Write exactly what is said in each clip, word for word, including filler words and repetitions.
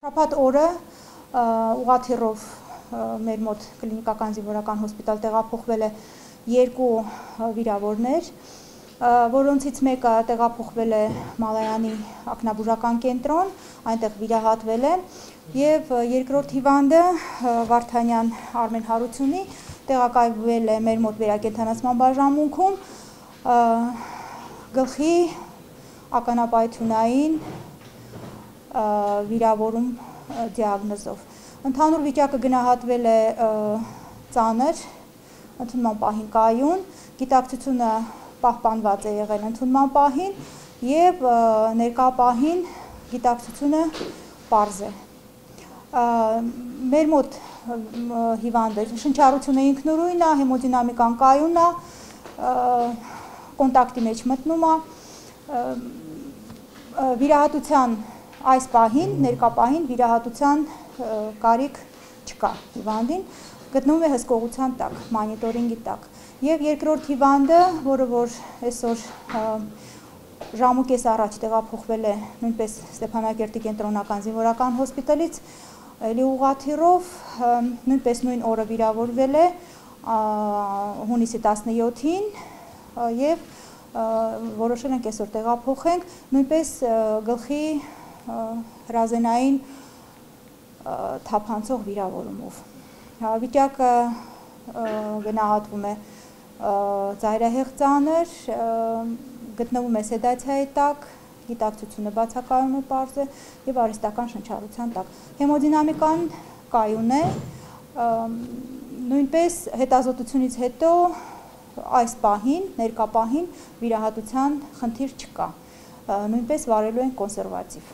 Շաբաթ օրը ուղղաթիռով մեր մոտ կլինիկական զինվորական հոսպիտալ տեղափոխվել է երկու վիրավորներ, որոնցից մեկը տեղափոխվել է Մալայանի ակնաբուժական կենտրոն, այնտեղ վիրահատվել է, եւ երկրորդ հիվանդը Վարդանյան Արմեն Հարությունի տեղակայվել է մեր մոտ վերակենդանացման բաժանմունքում գլխի ականապայթյունային վիրավորում դիագնոզով։ Ընդհանուր վիճակը գնահատվել է ծանր, ընդունման պահին կայուն, գիտակցությունը պահպանված է եղել ընդունման պահին եւ ներկա պահին գիտակցությունը պարզ է։ Մեր մոտ հիվանդը շնչառությունը ինքնուրույն է, հեմոդինամիկան կայուն է, կոնտակտի մեջ մտնում է, վիրահատության այս պահին, ներկա պահին վիրահատության կարիք չկա հիվանդին, գտնվում է հսկողության տակ, մանիտորինգի տակ։ Եվ երկրորդ հիվանդը, որը որ այսօր ժամուկես առաջ տեղափոխվել է նույնպես Ստեփանակերտի կենտրոնական զինվորական հոսպիտալից, էլի ուղղաթիռով, նույնպես նույն օրը վիրավորվել է հունիսի տասնյոթին եւ որոշել ենք այսօր տեղափոխենք, նույնպես գլխի հրազենային թափանցող վիրավորումով։ Վիճակը գնահատվում է ծայրահեղ ծանր, գտնվում է սեդացիայի տակ, գիտակցությունը բացակայում է պարզ է եւ արհեստական շնչառության տակ։ Հեմոդինամիկան կայուն է, նույնպես հետազոտությունից հետո այս պահին, ներկա պահին վիրահատության խնդիր չկա, նույնպես վարելու են կոնսերվատիվ։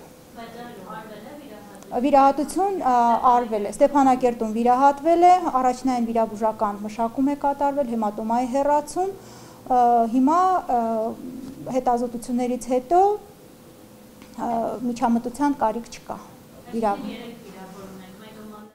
Վիրահատություն արվել է, Ստեփանակերտում վիրահատվել է, առաջնային վիրաբուժական մշակում է կատարվել, հեմատոմայի հեռացում, հիմա հետազոտություններից հետո միջամտության կարիք չկա։